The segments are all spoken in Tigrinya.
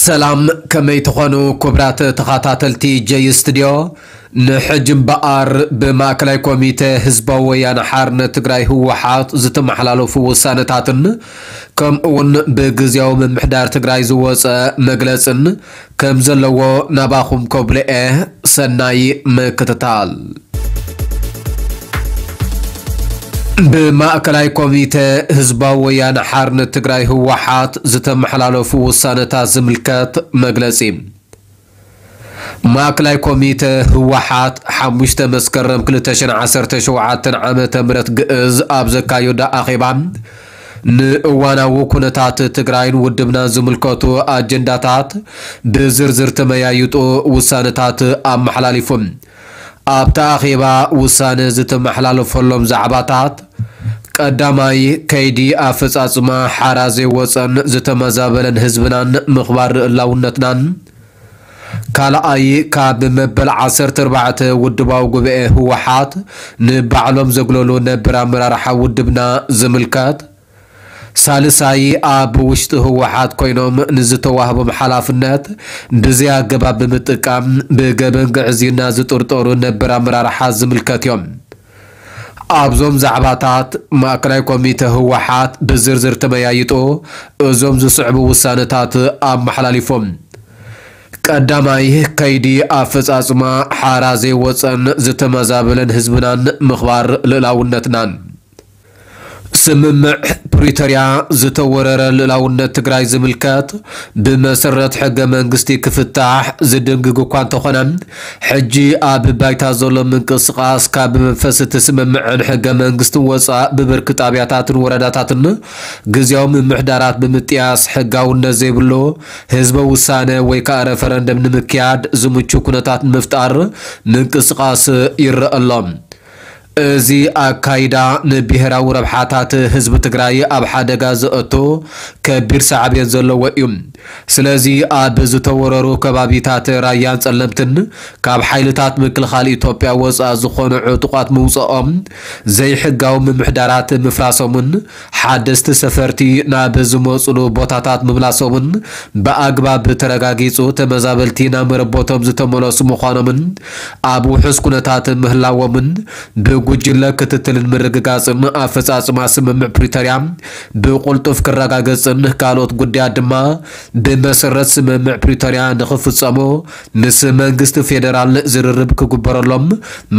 ሰላም፣ ከመይ ትኾኑ ክቡራት ተኸታተልቲ ጀይ ስቱድዮ? ንሕጂ እምበኣር ብማእከላይ ኮሚተ ህዝባዊ ወያነ ሓርነት ትግራይ ህወሓት ዝተመሓላለፉ ውሳነታትን ከምኡ እውን ብግዝያዊ ምምሕዳር ትግራይ ዝወፀ መግለፅን ከም ዘለዎ ናባኹም ከብልኤ። ሰናይ ምክትታል። ብማእከላይ ኮሚተ ህዝባዊ ወያነ ሓርነት ትግራይ ህወሓት ዝተመሓላለፉ ውሳነታት ዝምልከት መግለጺ። ማእከላይ ኮሚተ ህወሓት ሓሙሽተ መስከረም ክልተ ሽሕን ዓሰርተ ሸውዓተን ዓመተ ምህረት ግእዝ ኣብ ዘካየዶ ኣኼባ፣ ንእዋናዊ ኩነታት ትግራይን ውድብናን ዝምልከቱ ኣጀንዳታት ብዝርዝር ተመያይጡ ውሳነታት ኣመሓላሊፉ። ኣብቲ ኣኼባ ውሳነ ዝተመሓላለፈሎም ዛዕባታት፣ ቀዳማይ፣ ከይዲ ኣፈፃፅማ ሓራ ዘይወፀን ዝተመዛበለን ህዝብናን ምኽባር ልእላውነትናን። ካልኣይ፣ ካብ መበል ዓሰርተ ኣርባዕተ ውድባዊ ጉባኤ ህወሓት ንባዕሎም ዘግለሉ ነበር ኣመራርሓ ውድብና ዝምልከት። ሳልሳይ፣ ኣብ ውሽጢ ህወሓት ኮይኖም ንዝተዋህቦም ሓላፍነት ብዘይ ኣገባብ ብምጥቃም ብገበን ግዕዝይና ዝጥርጠሩ ነበር ኣመራርሓ ዝምልከት እዮም። ኣብዞም ዛዕባታት ማእከላይ ኮሚተ ህወሓት ብዝርዝር ተመያይጡ እዞም ዝስዕቡ ውሳነታት ኣመሓላሊፎም። ቀዳማይ፣ ከይዲ ኣፈፃፅማ ሓራ ዘይወፀን ዝተመዛበለን ህዝብናን ምኽባር ልእላውነትናን። ስምምዕ ፕሪቶርያ ዝተወረረ ልእላውነት ትግራይ ዝምልከት ብመሰረት ሕገ መንግስቲ ክፍታሕ ዝድንግግ እኳ እንተኾነ፣ ሕጂ ኣብ ባይታ ዘሎ ምንቅስቓስ ካብ መንፈስ እቲ ስምምዕን ሕገ መንግስትን ወፃእ ብብርኪ ጣብያታትን ወረዳታትን ግዝያዊ ምምሕዳራት ብምጥያስ ሕጋውነት ዘይብሉ ህዝበ ውሳነ ወይ ከዓ ረፈረንደም ንምክያድ ዝምቹ ኩነታት ንምፍጣር ምንቅስቓስ ይረአ ኣሎ። እዚ ኣካይዳ ንብሄራዊ ረብሓታት ህዝቢ ትግራይ ኣብ ሓደጋ ዘእቱ ከቢድ ሳዕቤን ዘለዎ እዩ። ስለዚ ኣብ ዝተወረሩ ከባቢታት ራያን ጸለምትን ካብ ሓይልታት ምክልኻል ኢትዮጵያ ወጻእ ዝኾኑ ዕጡቓት ምውጽኦም፣ ዘይሕጋዊ ምምሕዳራት ምፍራሶምን ሓደስቲ ሰፈርቲ ናብ ዝመጹሉ ቦታታት ምምላሶምን ብኣግባብ ተረጋጊጹ ተመዛበልቲ ናብ መረቦቶም ዝተመለሱ ምዃኖምን ኣብ ውሑስ ኩነታት ምህላዎምን ብጉጅለ ክትትልን ምርግጋጽን ኣፈጻጽማ ስምምዕ ፕሪቶርያ ብቁልጡፍ ክረጋገጽን ካልኦት ጉዳያት ድማ ብመሰረት ስምምዕ ፕሪቶርያ ንኽፍጸሙ ምስ መንግስቲ ፌደራል ዝርርብ ክግበረሎም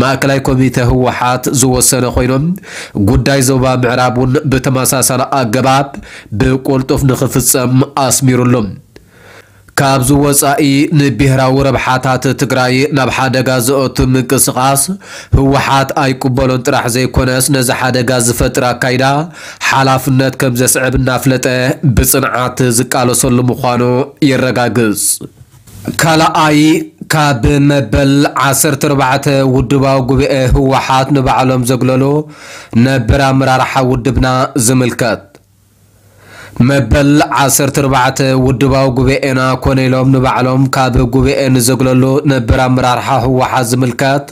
ማእከላይ ኮሚተ ህወሓት ዝወሰነ ኮይኖም፣ ጉዳይ ዞባ ምዕራብ እውን ብተመሳሳሊ ኣገባብ ብቁልጡፍ ንኽፍጸም ኣስሚሩሉ። ካብዚ ወጻኢ ንብሄራዊ ረብሓታት ትግራይ ናብ ሓደጋ ዘእቱ ምንቅስቓስ ህወሓት ኣይቅበሎን ጥራሕ ዘይኮነስ ነዚ ሓደጋ ዝፈጥር ኣካይዳ ሓላፍነት ከም ዘስዕብ እናፍለጠ ብጽንዓት ዝቃለሰሉ ምዃኑ የረጋግጽ። ካልኣይ፣ ካብ መበል ዓሰርተ ኣርባዕተ ውድባዊ ጉባኤ ህወሓት ንባዕሎም ዘግለሉ ነበር ኣመራርሓ ውድብና ዝምልከት። መበል ዓሰርተ ኣርባዕተ ውድባዊ ጉባኤና ኮነ ኢሎም ንባዕሎም ካብ ጉባኤ ንዘግለሉ ነበር ኣመራርሓ ህወሓት ዝምልከት፣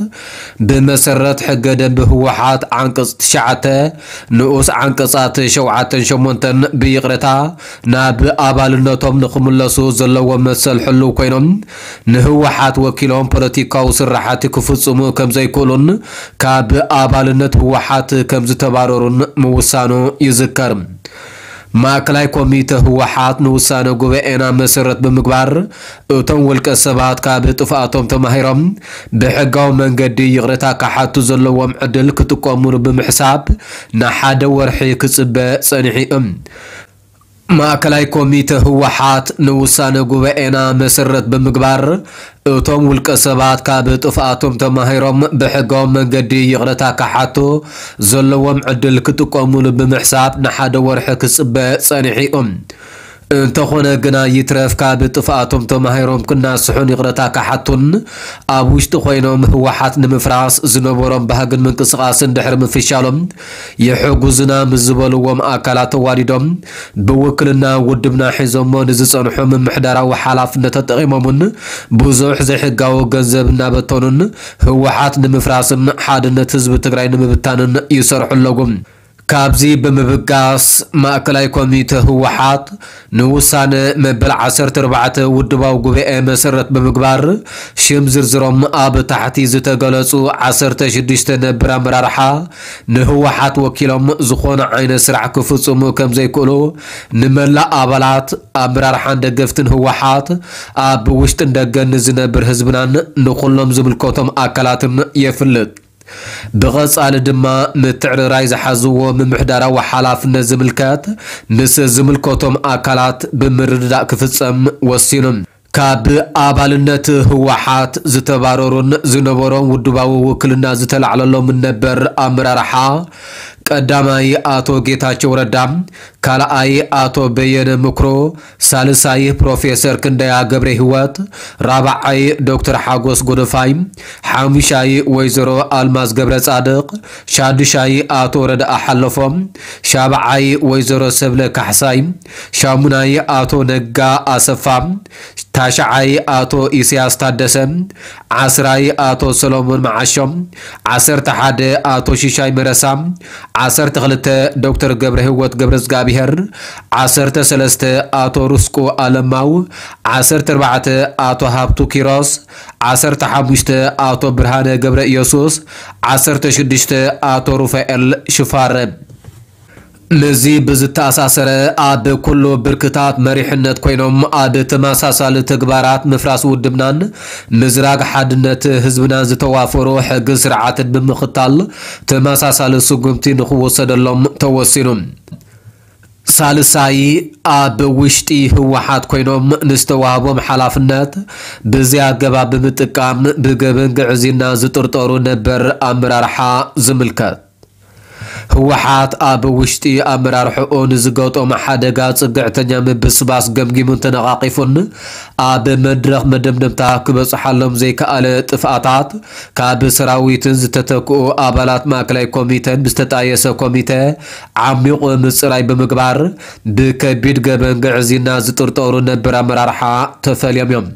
ብመሰረት ሕገ ደንቢ ህወሓት ዓንቀጽ ትሽዓተ ንኡስ ዓንቀጻት ሸውዓተን ሸሞንተን ብይቕረታ ናብ ኣባልነቶም ንኽምለሱ ዘለዎም መሰል ሕሉው ኮይኖም፣ ንህወሓት ወኪሎም ፖለቲካዊ ስራሓት ክፍጽሙ ከም ዘይክእሉን ካብ ኣባልነት ህወሓት ከም ዝተባረሩን ምውሳኑ ይዝከር። ማእከላይ ኮሚተ ህወሓት ንውሳነ ጉባኤና መሰረት ብምግባር፣ እቶም ውልቀ ሰባት ካብ ጥፍኣቶም ተማሂሮም ብሕጋዊ መንገዲ ይቕረታ ክሓቱ ዘለዎም ዕድል ክጥቀሙሉ ብምሕሳብ ንሓደ ወርሒ ክጽበ ጸኒሑ እዩ። ማእከላይ ኮሚተ ህወሓት ንውሳነ ጉባኤና መሰረት ብምግባር፣ እቶም ውልቀ ሰባት ካብ ጥፍኣቶም ተማሂሮም ብሕጋዊ መንገዲ ይቕረታ ክሓቱ ዘለዎም ዕድል ክጥቀሙሉ ብምሕሳብ ንሓደ ወርሒ ክጽበ ጸኒሑ እዩ። እንተኾነ ግና ይትረፍ ካብ ጥፍኣቶም ተማሂሮም ክናስሑን ይቕረታ ክሓቱን ኣብ ውሽጢ ኮይኖም ህወሓት ንምፍራስ ዝነበሮም ባህግን ምንቅስቓስን ድሕሪ ምፍሻሎም የሕጉዝና ምስ ዝበልዎም ኣካላት ተዋዲዶም ብውክልና ውድብና ሒዞሞ ንዝጸንሑ ምምሕዳራዊ ሓላፍነት ተጠቒሞምን ብዙሕ ዘይሕጋዊ ገንዘብ እናበተኑን ህወሓት ንምፍራስን ሓድነት ህዝቢ ትግራይ ንምብታንን ይሰርሑ ኣለዉ። ካብዚ ብምብጋስ፣ ማእከላይ ኮሚተ ህወሓት ንውሳነ መበል ዓሰርተ ኣርባዕተ ውድባዊ ጉባኤ መሰረት ብምግባር፣ ሽም ዝርዝሮም ኣብ ታሕቲ ዝተገለጹ ዓሰርተ ሽዱሽተ ነበር ኣመራርሓ ንህወሓት ወኪሎም ዝኾነ ዓይነት ስራሕ ክፍጽሙ ከም ዘይክእሉ ንመላእ ኣባላት ኣመራርሓን ደገፍትን ህወሓት ኣብ ውሽጥን ደገን ንዝነብር ህዝብናን ንኹሎም ዝምልከቶም ኣካላትን የፍልጥ። ብቐጻሊ ድማ ምትዕርራይ ዝሓዝዎ ምምሕዳራዊ ሓላፍነት ዝምልከት ምስ ዝምልከቶም ኣካላት ብምርድዳእ ክፍጸም ወሲኑ። ካብ ኣባልነት ህወሓት ዝተባረሩን ዝነበሮም ውድባዊ ውክልና ዝተላዕለሎምን ነበር ኣመራርሓ ቀዳማይ ኣቶ ጌታቸው ረዳ፣ ካልኣይ ኣቶ በየነ ምክሮ፣ ሳልሳይ ፕሮፌሰር ክንደያ ገብረ ህይወት፣ ራብዓይ ዶክተር ሓጎስ ጎደፋይ፣ ሓሙሻይ ወይዘሮ ኣልማዝ ገብረ ጻድቕ፣ ሻዱሻይ ኣቶ ረድኣ ሓለፎም፣ ሻብዓይ ወይዘሮ ሰብለ ካሕሳይ፣ ሻሙናይ ኣቶ ነጋ ኣሰፋ፣ ታሽዓይ ኣቶ ኢሳያስ ታደሰ፣ ዓስራይ ኣቶ ሰሎሞን መዓሾ፣ ዓሰርተ ሓደ ኣቶ ሽሻይ መረሳ፣ ዓሰርተ ክልተ ዶክተር ገብረ ህይወት ገብረ እግዚኣብሔር፣ ዓሰርተ ሰለስተ ኣቶ ርስቁ ኣለማው፣ ዓሰርተ ኣርባዕተ ኣቶ ሃብቱ ኪሮስ፣ ዓሰርተ ሓሙሽተ ኣቶ ብርሃነ ገብረ ኢየሱስ፣ ዓሰርተ ሽዱሽተ ኣቶ ሩፋኤል ሽፋረ። ምስዚ ብዝተኣሳሰረ፣ ኣብ ኩሉ ብርክታት መሪሕነት ኮይኖም ኣብ ተመሳሳሊ ተግባራት ምፍራስ ውድብናን ምዝራግ ሓድነት ህዝብናን ዝተዋፈሩ ሕግን ስርዓትን ብምኽታል ተመሳሳሊ ስጉምቲ ንኽወሰደሎም ተወሲኑ። ሳልሳይ፣ ኣብ ውሽጢ ህወሓት ኮይኖም ንዝተዋህቦም ሓላፍነት ብዘይ ኣገባብ ብምጥቃም ብገበን ግዕዝይና ዝጥርጠሩ ነበር ኣመራርሓ ዝምልከት። ህወሓት ኣብ ውሽጢ ኣመራርሕኡ ንዝገጠሞ ሓደጋ ጽግዕተኛ ምብስባስ ገምጊሙን ተነቓቒፉን ኣብ መድረኽ መደምደምታ ክበጽሓሎም ዘይከኣለ ጥፍኣታት ካብ ሰራዊትን ዝተተክኡ ኣባላት ማእከላይ ኮሚተን ብዝተጣየሰ ኮሚተ ዓሚቑ ምጽራይ ብምግባር ብከቢድ ገበን ግዕዝይና ዝጥርጠሩ ነበር ኣመራርሓ ተፈልዮም እዮም።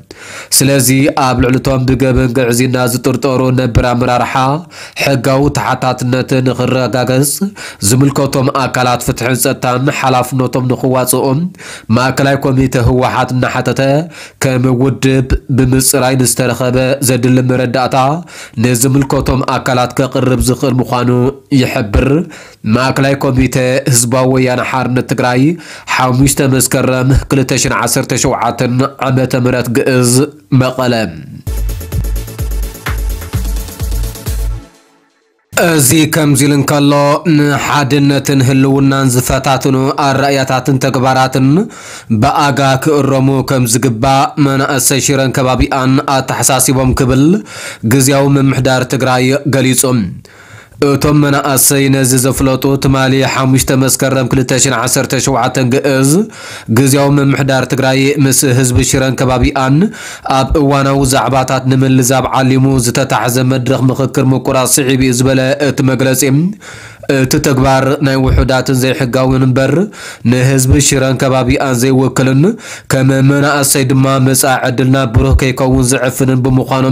ስለዚ ኣብ ልዕሊ እቶም ብገበን ግዕዝይና ዝጥርጠሩ ነበር ኣመራርሓ ሕጋዊ ተሓታትነት ንኽረጋገጽ ዝምልከቶም ኣካላት ፍትሕን ጸጥታን ሓላፍነቶም ንኽዋጽኡ ማእከላይ ኮሚተ ህወሓት እናሓተተ፣ ከም ውድብ ብምጽራይ ንዝተረኸበ ዘድሊ መረዳእታ ንዝምልከቶም ኣካላት ከቕርብ ዝኽእል ምዃኑ ይሕብር። ማእከላይ ኮሚተ ህዝባዊ ወያነ ሓርነት ትግራይ፣ ሓሙሽተ መስከረም ክልተ ሽሕን ዓሰርተ ሸውዓተን ዓመተ ምህረት ግእዝ፣ መቐለ። እዚ ከምዚ ኢሉ እንከሎ፣ ንሓድነትን ህልውናን ዝፈታትኑ ኣረኣእያታትን ተግባራትን ብኣጋ ክእረሙ ከም ዝግባእ መናእሰይ ሽረን ከባቢኣን ኣተሓሳሲቦም ክብል ግዝያዊ ምምሕዳር ትግራይ ገሊጹ። እቶም መናእሰይ ነዚ ዘፍለጡ ትማሊ ሓሙሽተ መስከረም ክልተ ሽሕን ዓሰርተ ሸውዓተን ግእዝ፣ ግዝያዊ ምምሕዳር ትግራይ ምስ ህዝቢ ሽረን ከባቢኣን ኣብ እዋናዊ ዛዕባታት ንምልዛብ ዓሊሙ ዝተታሕዘ መድረኽ ምኽክር ምቁራጽ ስዒቡ እዩ ዝበለ እቲ መግለጺ፣ እቲ ተግባር ናይ ውሑዳትን ዘይሕጋውን እምበር ንህዝቢ ሽረን ከባቢኣን ዘይውክልን ከም መናእሰይ ድማ መጻኢ ዕድልና ብሩህ ከይከውን ዝዕፍንን ብምዃኑ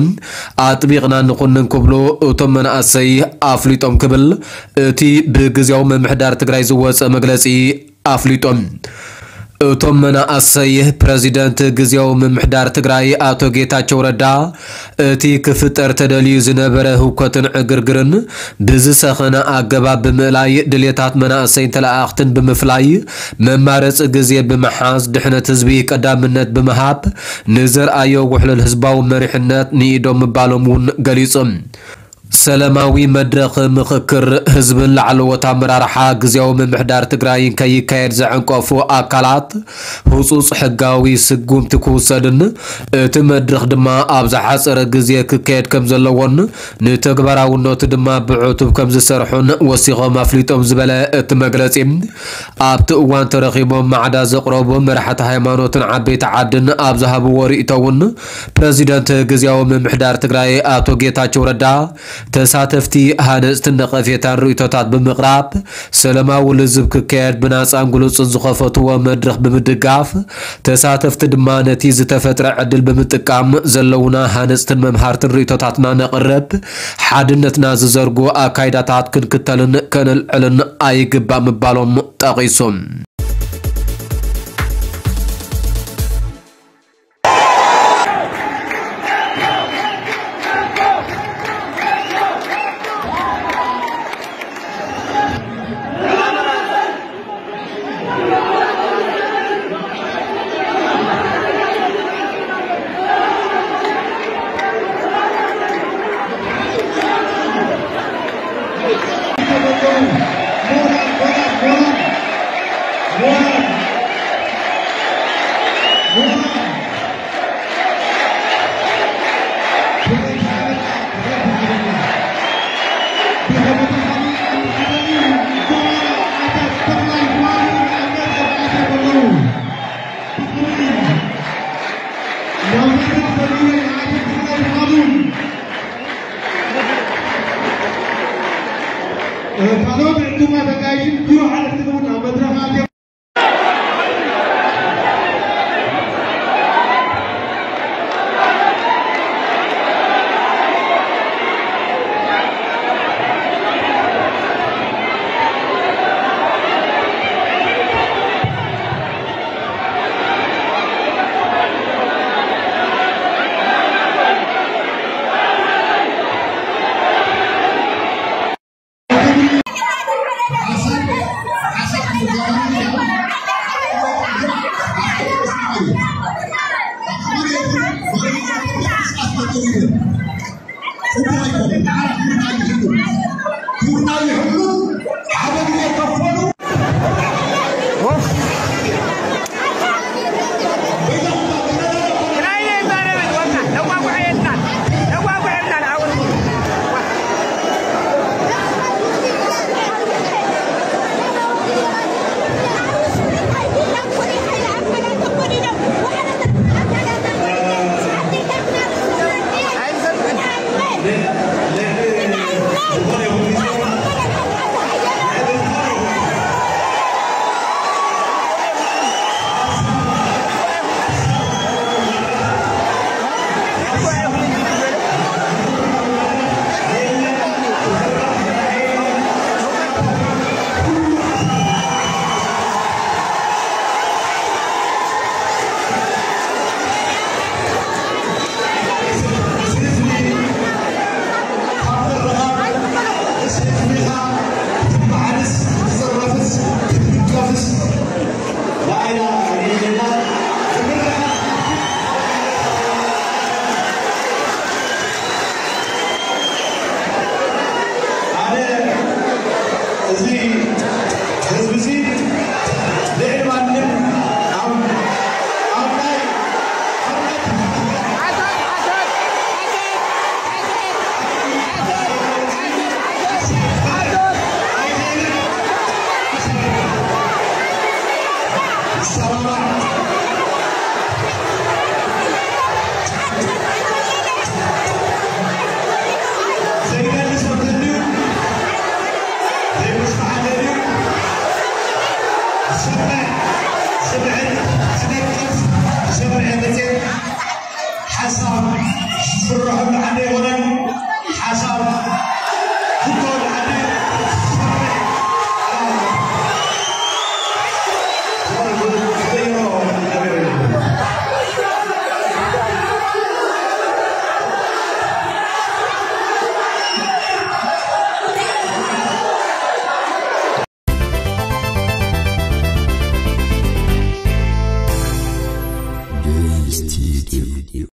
ኣጥቢቕና ንኹንን ክብሉ እቶም መናእሰይ ኣፍሊጦም ክብል እቲ ብግዝያዊ ምምሕዳር ትግራይ ዝወጸ መግለጺ ኣፍሊጦም። እቶም መናእሰይ፣ ፕረዚደንት ግዝያዊ ምምሕዳር ትግራይ ኣቶ ጌታቸው ረዳ፣ እቲ ክፍጠር ተደልዩ ዝነበረ ህውከትን ዕግርግርን ብዝሰኸነ ኣገባብ ብምእላይ፣ ድሌታት መናእሰይን ተለኣኣኽትን ብምፍላይ፣ መማረፂ ግዜ ብምሓዝ፣ ድሕነት ህዝቢ ቀዳምነት ብምሃብ፣ ንዘርኣዮ ውሕሉል ህዝባዊ መሪሕነት ንኢዶም ምባሎም እውን ገሊጾም። ሰላማዊ መድረኽ ምኽክር ህዝብን ላዕለዎት ኣመራርሓ ግዝያዊ ምምሕዳር ትግራይን ከይካየድ ዘዐንቀፉ ኣካላት ህጹጽ ሕጋዊ ስጉምቲ ክውሰድን እቲ መድረኽ ድማ ኣብ ዝሓጸረ ግዜ ክካየድ ከም ዘለዎን ንተግባራውነቱ ድማ ብዕቱብ ከም ዝሰርሑን ወሲኾም ኣፍሊጦም ዝበለ እቲ መግለጺ፣ ኣብቲ እዋን ተረኺቦም ማዕዳ ዘቕረቡ መራሕቲ ሃይማኖትን ዓበይቲ ዓድን ኣብ ዝሃብዎ ርእይቶ እውን ፕረዚደንት ግዝያዊ ምምሕዳር ትግራይ ኣቶ ጌታቸው ረዳ ተሳተፍቲ ሃነፅትን ነቐፌታን ርእይቶታት ብምቕራብ ሰላማዊ ልዝብ ክካየድ ብናፃን ግሉፅን ዝኸፈትዎ መድረኽ ብምድጋፍ፣ ተሳተፍቲ ድማ ነቲ ዝተፈጥረ ዕድል ብምጥቃም ዘለውና ሃነፅትን መምሃርትን ርእይቶታትና ነቕርብ፣ ሓድነትና ዝዘርጉ ኣካይዳታት ክንክተልን ከነልዕልን ኣይግባእ ምባሎም ጠቒሱ። ካልኦት ዕዱማት ኣጋይሽን ቢሮ ሓለፍትን እውን ኣብ መድረኽ ኣትዮም። ኣነ እዚ ህዝቢ እዚ ልዕሊ ማንም ኣብ ኣብ ናይ ሓሳብ ዝፍረሐሉ ዓዲ ኣይኮነን። ሓሳብ ዝትወሉ ዓዲ